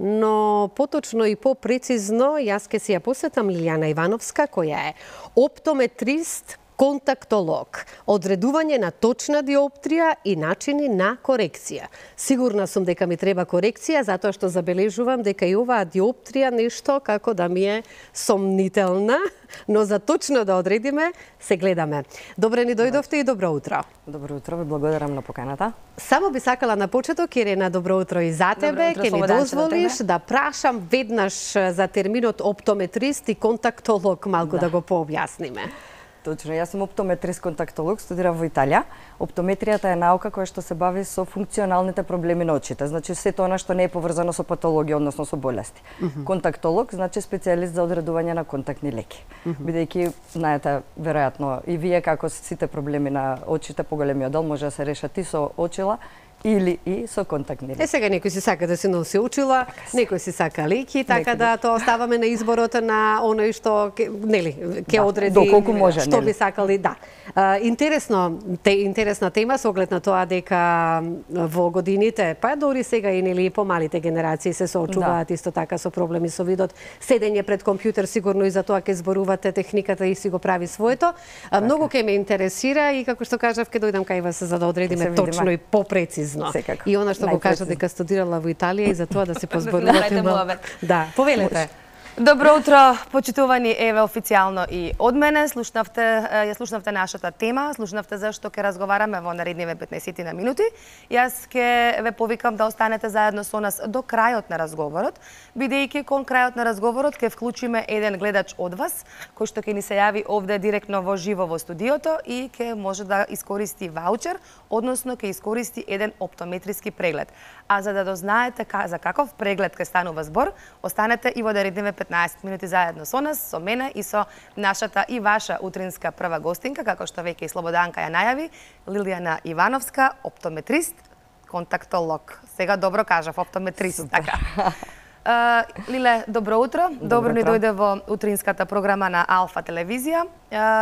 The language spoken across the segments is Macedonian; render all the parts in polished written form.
но поточно и попрецизно јас ке си ја посветам Лилијана Ивановска, која е оптометрист, контактолог, одредување на точна диоптрија и начини на корекција. Сигурна сум дека ми треба корекција, затоа што забележувам дека и оваа диоптрија нешто како да ми е сомнителна, но за точно да одредиме, се гледаме. Добре ни дојдовте и добро утро. Добро утро, ви благодарам на поканата. Само би сакала на почеток, Ирена, добро утро и за тебе. Ке ми дозволиш да прашам веднаш за терминот оптометрист и контактолог, малку да го пообјасниме. Точно, јас сум оптометрист контактолог, студирав во Италија. Оптометријата е наука која што се бави со функционалните проблеми на очите. Значи сето она што не е поврзано со патологија, односно со болести. Контактолог значи специјалист за одредување на контактни леки. Бидејќи знаете веројатно и вие како сите проблеми на очите, поголемиот дел може да се решат и со очила или и со контактни леки. Сега некој си сака да се носи очила, некој си сака леки, така да тоа оставаме на изборот на оној што ќе одреди доколку може, што би сакали, да. Интересна тема со оглед на тоа дека во годините, па дори сега и нели помалите генерации се соочуваат исто така со проблеми со видот. Седење пред компјутер сигурно и за тоа ќе зборувате, техниката и си го прави своето. Многу ќе ме интересира и како што кажав ќе дојдам кај вас за да одредиме точно и попрецизно. Секако. И она што го кажа дека студирала во Италија и за тоа да се позборувате. Да, повелете. Добро утро, почитувани, еве официјално и од мене. Ја слушнавте нашата тема, слушнавте зашто ќе разговараме во наредниве 15 на минути. Јас ќе ве повикам да останете заедно со нас до крајот на разговорот, бидејќи кон крајот на разговорот ќе вклучиме еден гледач од вас, кој што ќе ни се јави овде директно во живо во студиото и ќе може да искористи ваучер, односно ќе искористи еден оптометриски преглед. А за да дознаете за каков преглед ќе станува збор, останете и во наредниве 15 минути заедно со нас, со мене и со нашата и ваша утринска прва гостинка, како што веќе и Слободанка ја најави, Лилијана Ивановска, оптометрист, контактолог. Сега добро кажав, оптометрист, така. Лиле, добро утро. Добро ни дојде во утринската програма на Алфа телевизија.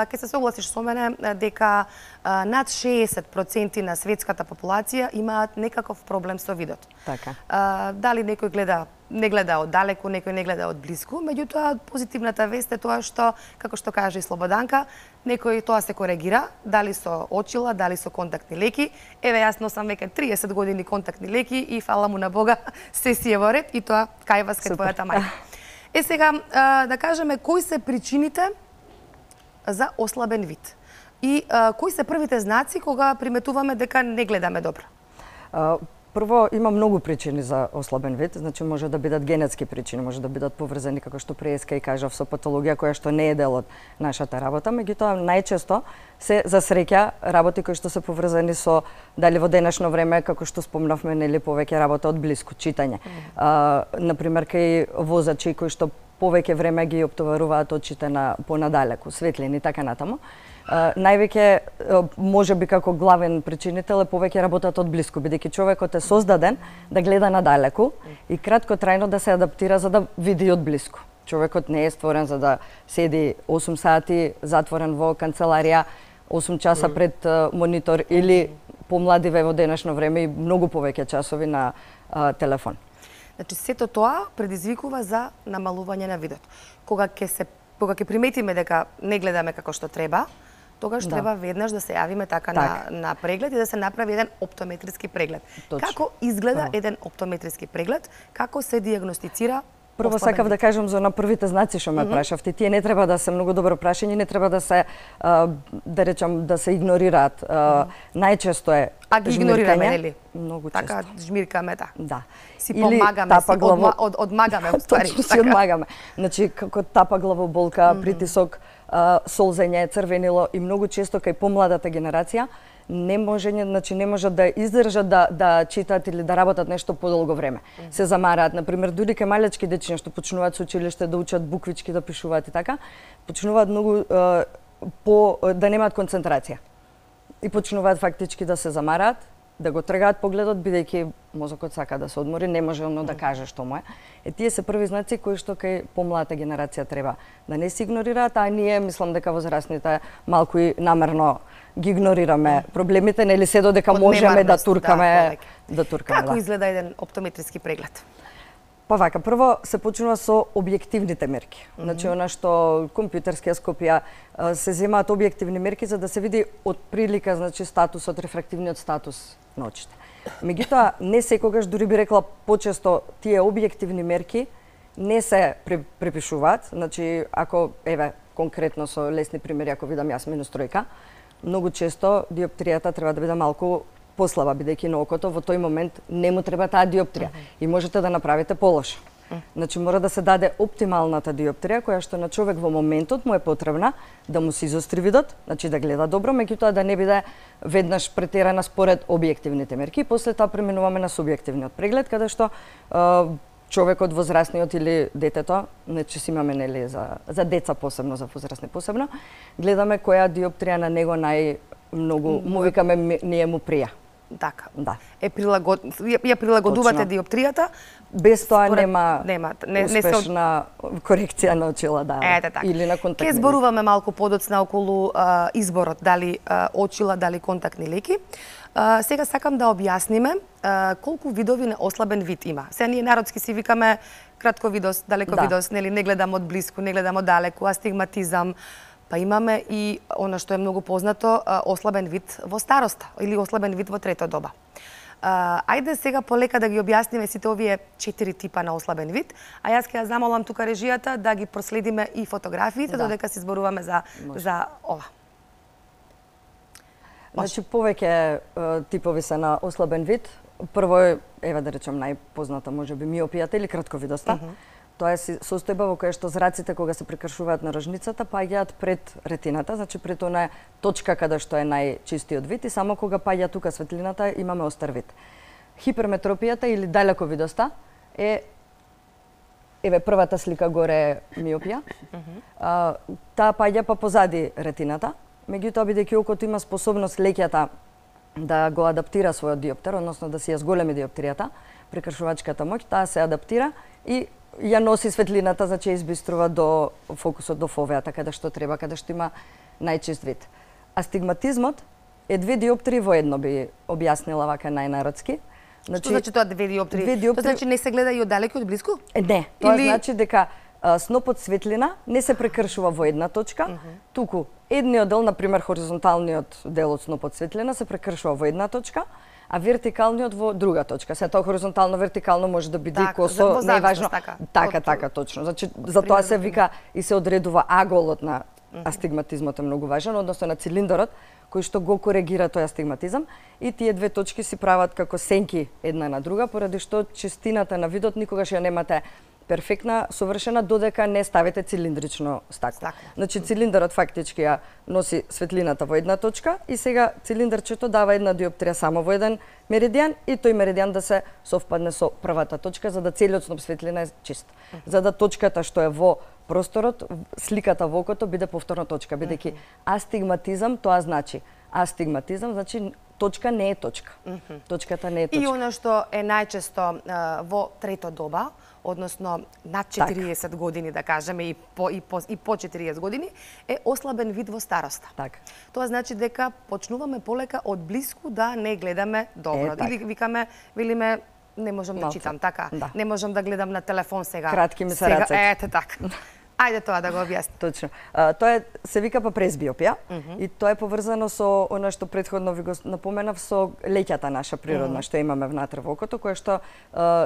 Ке се согласиш со мене дека над 60% на светската популација имаат некаков проблем со видот. Така. Дали некој не гледа од далеку, некој не гледа од блиску, меѓутоа позитивната вест е тоа што, како што каже и Слободанка, некој тоа се коригира, дали со очила, дали со контактни леки. Еве јас носам веќе 30 години контактни леки и фала му на Бога се си е во ред и тоа кај вас кај твојата мајка. Сега да кажеме кои се причините за ослабен вид и кои се првите знаци кога приметуваме дека не гледаме добро? Прво, има многу причини за ослабен вид, значи може да бидат генетски причини, може да бидат поврзани, како што преска и кажав, со патологија која што не е дел од нашата работа, меѓутоа најчесто се за среќа работи кои што се поврзани со дали во денешно време, како што спомнавме, нели повеќе работа од блиску, читање. Например, кај возачи кои што повеќе време ги оптоваруваат очите на понадалеку, светлини и така натаму. Највеќе може би како главен причинител е повеќе работат од блиску, бидејќи човекот е создаден да гледа надалеку и краткотрајно да се адаптира за да види од блиску. Човекот не е створен за да седи 8 сати затворен во канцеларија, 8 часа пред монитор или помладиве во денешно време и многу повеќе часови на телефон. Значи сето тоа предизвикува за намалување на видот. Кога ќе приметиме дека не гледаме како што треба, тогаш треба веднаш да се јавиме така на преглед и да се направи еден оптометриски преглед. Точно. Како изгледа еден оптометриски преглед? Како се дијагностицира? Прво сакав да кажам за на првите знаци што ме прашавте. Тие не треба да се многу добро прашање, не треба да се да речам да се игнорираат. Најчесто е а ги игнорираме, нели? Многу често. Така жмиркаме, да. Си помагаме, одмагаме, уствари. Точно си одмагаме. Значи, како тапа главоболка, притисок, солзење, црвенило и многу често кај помладата генерација не можат да издржат да читаат или да работат нешто подолго време. Се замараат, например, дури кај малечки дечиња што почнуваат со училиште да учат буквички, да пишуваат и така, почнуваат многу да немаат концентрација. И почнуваат фактички да се замараат, да го тргаат погледот, бидејќи мозокот сака да се одмори, не може оно да каже што му е. Тие се први знаци кои што кај помладата генерација треба да не се игнорираат, а ние мислам дека возрастните малку и намерно ги игнорираме проблемите, нели се додека можеме да туркаме. Како изгледа еден оптометриски преглед? Па вака, прво се почнува со објективните мерки. Значи, она што компјутерскиоскопија се земаат објективни мерки за да се види од прилика, значи, статусот, рефрактивниот статус на очите. Меѓутоа, не секогаш, дури би рекла почесто, тие објективни мерки не се препишуваат. Значи, ако, еве, конкретно со лесни примери, ако видам јас минус тројка, многу често диоптријата треба да биде малку послаба, бидејќи на окото во тој момент не му треба таа диоптрија и можете да направите полоша. Значи, мора да се даде оптималната диоптрија, која што на човек во моментот му е потребна да му се изостри видот, значи да гледа добро, меѓутоа да не биде веднаш претерана според објективните мерки. После тоа преминуваме на субјективниот преглед, каде што човекот, возрастниот или детето, значи си имаме нели за деца посебно, за возрастни посебно, гледаме која диоптрија на него најмногу му викаме ние му прија. Така. Да. Ја прилагодувате диоптријата. Без тоа нема успешна корекција на очила, да. Ете така. Или на контактни. Ке зборуваме малку подоцна околу изборот, дали очила, дали контактни леки. Сега сакам да објасниме колку видови на ослабен вид има. Сега ние народски си викаме кратковидост, далековидост, нели, не гледам од блиску, не гледам од далеку, астигматизам. Па имаме и она што е многу познато, ослабен вид во староста или ослабен вид во трето доба. Ајде сега полека да ги објасниме сите овие 4 типа на ослабен вид, а јас ќе ја замолам тука режијата да ги проследиме и фотографиите, додека си зборуваме за ова. Значи, повеќе типови се на ослабен вид. Прво е, еве да речем, најпозната можеби миопијата или кратковидоста. Тоа е состојба во која што зраците кога се прекршуваат на рожницата паѓаат пред ретината, значи пред онаа точка каде што е најчистиот вид и само кога паѓа тука светлината имаме остар вид. Хиперметропијата или далековидоста е еве првата слика горе е миопија. Таа паѓа па позади ретината, меѓутоа бидејќи окото има способност леќата да го адаптира својот диоптер, односно да си ја зголеми диоптријата, прекршувачката моќ, таа се адаптира и ја носи светлината, значи избиструва до фокусот, до фовеата, каде што треба, каде што има најчист вид. Астигматизмот е 2 диоптрии во едно, би објаснила вака најнародски. Значи, што значи тоа 2 диоптрии? Тоа значи не се гледа и од далеку и од блиску? Не, тоа значи дека снопот светлина не се прекршува во една точка, туку едниот дел, например хоризонталниот дел од снопот светлина се прекршува во една точка, а вертикалниот во друга точка. Се тоа хоризонтално, вертикално може да биде и косо, не е важно. Така, точно. Значи, за тоа се вика и се одредува аголот на астигматизмот е многу важен, односно на цилиндарот, кој што го коригира тој астигматизам, и тие 2 точки си прават како сенки една на друга, поради што чистината на видот никогаш ја немате перфектна, совршена, додека не ставите цилиндрично стакло. Значи, цилиндарот фактички ја носи светлината во една точка и сега цилиндарчето дава една диоптрија само во еден меридијан и тој меридијан да се совпадне со првата точка, за да целиот сноп светлина е чист. За да точката што е во просторот, сликата во окото биде повторна точка, бидејќи астигматизам тоа значи. Астигматизам значи точка не е точка. Точката не е точка. И она што е најчесто во трето доба, односно над 40 години, да кажеме, и по 40 години, е ослабен вид во староста. Така. Тоа значи дека почнуваме полека од блиску да не гледаме добро. Или викаме, велиме, не можам да читам, така. Не можам да гледам на телефон сега. Кратки ми се рацете. Ете така. Ајде тоа да го објасни. Точно. Тоа се вика па пресбиопија и тоа е поврзано со она што претходно ви го напоменав, со леќата наша природна што имаме внатре во окото, која што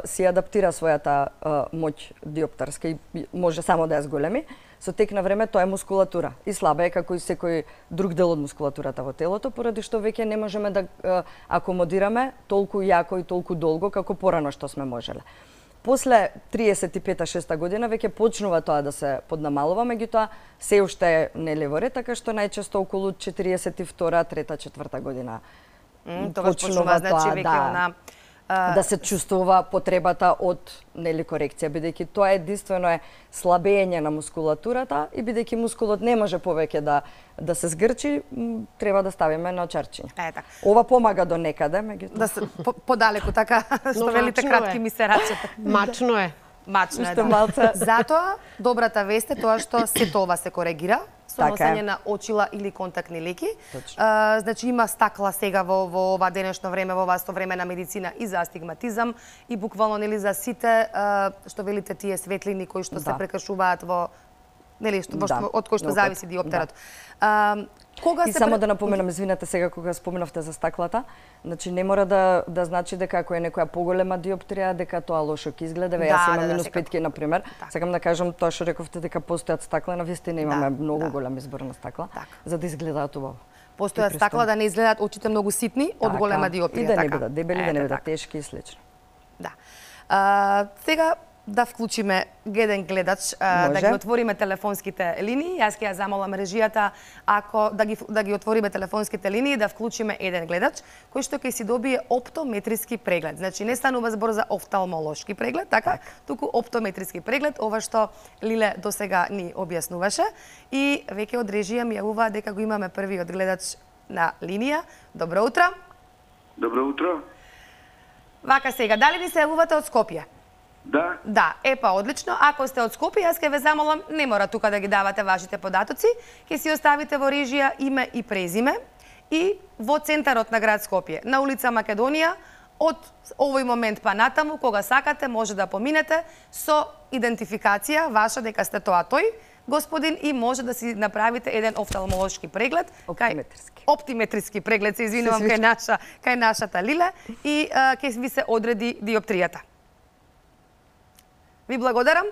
си адаптира својата моќ диоптерска и може само да ја зголеми. Со тек на време тоа е мускулатура и слаба е како и секој друг дел од мускулатурата во телото, поради што веќе не можеме да акомодираме толку јако и толку долго како порано што сме можеле. После 35-6 година веќе почнува тоа да се поднамалува, меѓутоа се уште не е во ред, така што најчесто околу 42-та, 3-та, 4-та година почнува значи веќе да се чувствува потребата од корекција, бидејќи тоа единствено е слабење на мускулатурата и бидејќи мускулот не може повеќе да се згрчи, треба да ставиме на очарчиње. Ова помага до некаде, меѓутоа. Да се подалеку така, што велите кратки ми се рачете. Мачно е. Мачно е, да. Затоа, добрата вест е тоа што сето ова се коригира со носење на очила или контактни леки. Значи има стакла сега во ова денешно време, во ова современа медицина и за астигматизам и буквално нели за сите што велите тие светлини кои што се прекашуваат во нели од кој што зависи диоптерот. И само да напоменам, извинете сега кога споменавте за стаклата, значи не мора да значи дека ако е некоја поголема диоптрија дека тоа лошо ќе изгледа. Јас имам минус 5 на пример. Сакам да кажам тоа што рековте дека постојат стакла, навистина имаме многу голем избор на стакла за да изгледаат убаво. Постојат стакла да не изгледаат очите многу ситни од голема диоптрија, и да не бидат дебели, да не бидат тешки и слично. Да. Сега да вклучиме еден гледач, да ги отвориме телефонските линии. Јас ќе ја замолам режијата да ги отвориме телефонските линии, да вклучиме еден гледач кој што ќе си добие оптометриски преглед. Значи не станува збор за офталмолошки преглед, така, туку оптометриски преглед, ова што Лиле досега ни објаснуваше. И веќе од режија ми јавува дека го имаме првиот гледач на линија. Добро утро. Добро утро. Вака сега, дали ни се јавувате од Скопје? Да. Да, одлично. Ако сте од Скопје, јас ќе ве замолам, не мора тука да ги давате вашите податоци, ќе си оставите во режија име и презиме и во центарот на град Скопје, на улица Македонија, од овој момент па натаму, кога сакате, може да поминете со идентификација ваша дека сте тоа тој господин и може да си направите еден офталмолошки преглед, оптиметриски преглед, се извинувам кај нашата Лиле и ќе ви се одреди диоптријата. Ви благодарам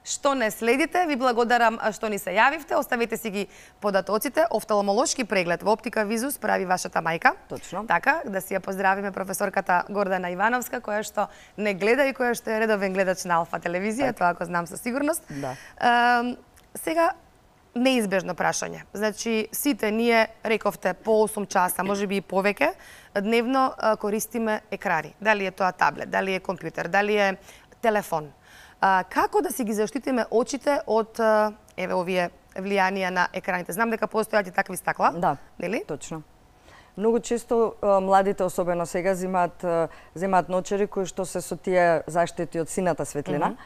што не следите, ви благодарам што ни се јавивте, оставете си ги податоците. Офталмолошки преглед во Оптика Визус прави вашата мајка. Точно. Така, да си ја поздравиме професорката Гордана Ивановска, која што не гледа и која што е редовен гледач на Алфа телевизија, тоа го знам со сигурност. Да. Сега, неизбежно прашање. Значи, сите ние, рековте, по 8 часа, може би и повеќе, дневно користиме екрани. Дали е тоа таблет, дали е компјутер, дали е телефон. Како да си ги заштитиме очите од овие влијанија на екраните? Знам дека постојат и такви стакла, нели? Точно. Многу често младите, особено сега, земаат ночери кои што се со тие заштити од сината светлина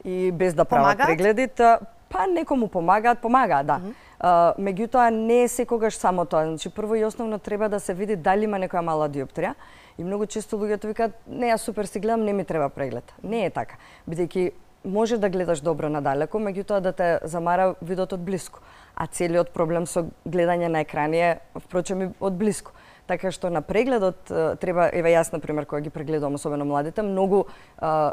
и без да прават прегледи, па некому помагаат, да. Меѓутоа не е секогаш само тоа. Значи прво и основно треба да се види дали има некоја мала диоптрија и многу често луѓето викаат не, јас супер си гледам, не ми треба преглед. Не е така, бидејќи може да гледаш добро надалеку, меѓутоа да те замара видот од блиску. А целиот проблем со гледање на екрани е, впрочем, и од блиску. Така што на прегледот треба, еве јас на пример кога ги прегледувам особено младите, многу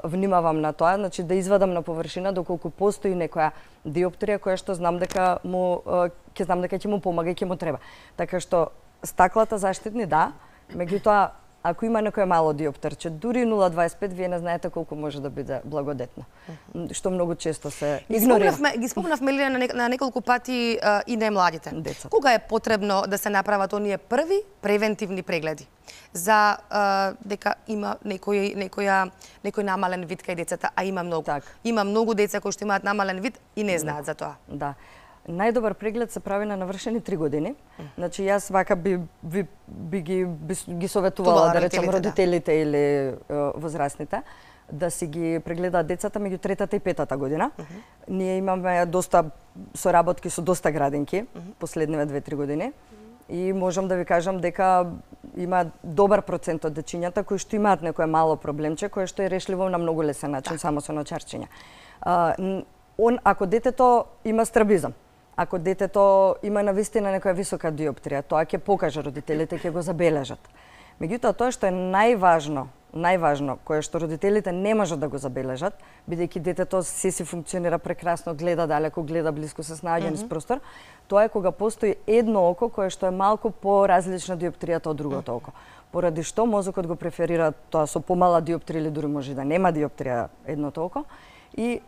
внимавам на тоа, значи да извадам на површина доколку постои некоја диоптрија која што знам дека ќе му помага и ќе му треба. Така што стаклата заштитни да, меѓутоа ако има некој мало диоптерче, дури 0,25, вие не знаете колку може да биде благодетно. Што многу често се игнорира. Ги спомнавме на неколку пати и немладите. Кога е потребно да се направат оние први превентивни прегледи? За дека има некој намален вид кај децата, а има многу. Има многу деца кои што имаат намален вид и не знаат за тоа. Да. Најдобар преглед се прави на навршени 3 години. Значи јас вака би ги советувала да речем родителите или возрастните да си ги прегледаат децата меѓу 3-та и 5-та година. Ние имаме доста соработки со доста градинки последниве 2-3 години и можам да ви кажам дека има добар процент од дечињата кои што имаат некое мало проблемче кое што е решливо на многу лесен начин само со начарчиња. Ако детето има страбизам, ако детето има навистина некоја висока диоптрија, тоа ќе покаже родителите, ќе го забележат. Меѓутоа, тоа што е најважно, кое што родителите не можат да го забележат, бидејќи детето си функционира прекрасно, гледа далеку, гледа блиску, се снаоѓа низ простор, тоа е кога постои едно око кое што е малку поразлично диоптријата од другото око. Поради што мозокот го преферира тоа со помала диоптрија или дури може да нема диоптрија едното око, и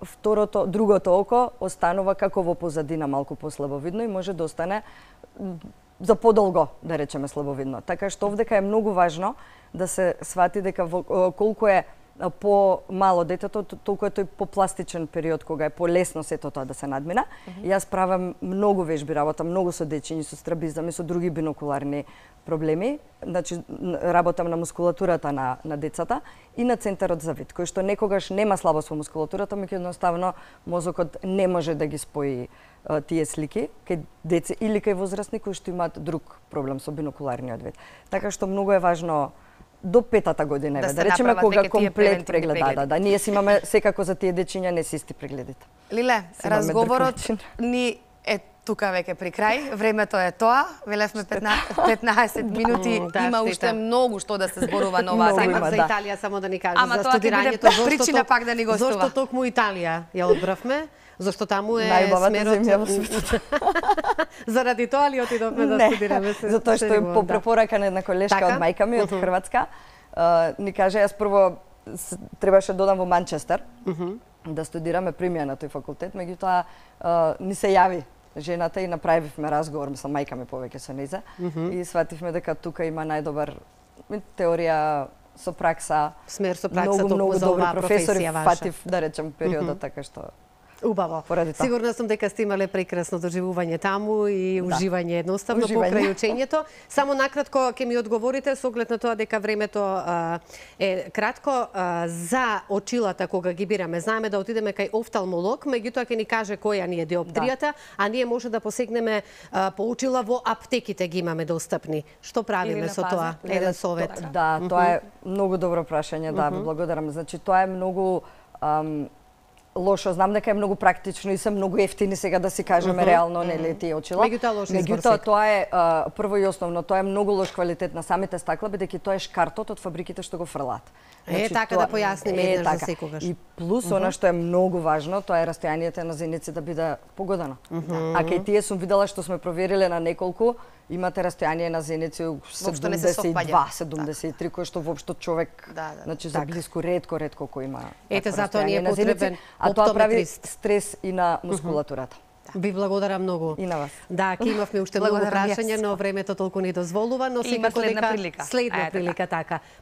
другото око останува како во позадина малку послабовидно и може да остане за подолго, да речеме, слабовидно. Така што овдека е многу важно да се свати дека колку е по-мало детето, толку е тој попластичен период кога е полесно сето тоа да се надмина. Јас правам многу вежби работа, многу со дечиња, со страбизам и со други бинокуларни проблеми, значи работам на мускулатурата на децата и на центарот за вид, кој што некогаш нема слабост во мускулатурата, меѓутоа едноставно мозокот не може да ги спои тие слики кај деца или кај возрастни кои што имаат друг проблем со бинокуларниот вид. Така што многу е важно до 5-та година, да речеме кога комплет преглед, да, ние си имаме секако за тие дечиња не си исти прегледите. Лиле, разговорот ни е тука веќе при крај, времето е тоа, велевме 15 минути, има уште многу што да се зборува на оваа тема. За Италија само да ни каже, за студирањето, причина пак да ни гостува. Зошто токму Италија ја одбравме? Зошто таму е најубавата земја во светот. Заради тоа ли отидовме да студираме? Затоа што по препорака на една колешка од мајка ми од Хрватска, ни каже, јас прво требаше да одам во Манчестер да студираме премија на тој факултет, меѓутоа ни се јави жената и направивме разговор со мајка ми повеќе со нејза и свативме дека тука има најдобар теорија со пракса, смер со пракса, многу за добри оваа професори, професија ваша. фатив да речем периодот, така што убаво. Сигурна сум дека сте имале прекрасно доживување таму и уживање едноставно покрај учењето. Само накратко ќе ми одговорите со оглед на тоа дека времето е кратко за очилата кога ги бираме. Знаеме да отидеме кај офталмолог, меѓутоа ќе ни каже која ни е диоптријата, а ние може да посегнеме по очила во аптеките ги имаме достапни. Што правиме со тоа? Еден совет. Да, тоа е многу добро прашање, да, ви благодарам. Значи тоа е многу лошо, знам дека е многу практично и се многу ефтини сега да си кажеме реално нели тие очила. Меѓутоа тоа е прво и основно, тоа е многу лош квалитет на самите стакла, бидејќи тоа е шкартот од фабриките што го фрлаат. Така да појасниме еднаш за секогаш. И плюс она што е многу важно, тоа е растојанието на зеници да биде погодено. А кај тие сум видела што сме провериле на неколку, имате растојание на зеници 72-73, кој што воопшто човек, значи за блиску ретко кој има. Ете затоа ни е потребен а тоа прави стрес и на мускулатурата. Ви благодарам многу. И на вас. Да, ќе имавме уште многу прашања, но времето толку не дозволува, но секако дека следна прилика така.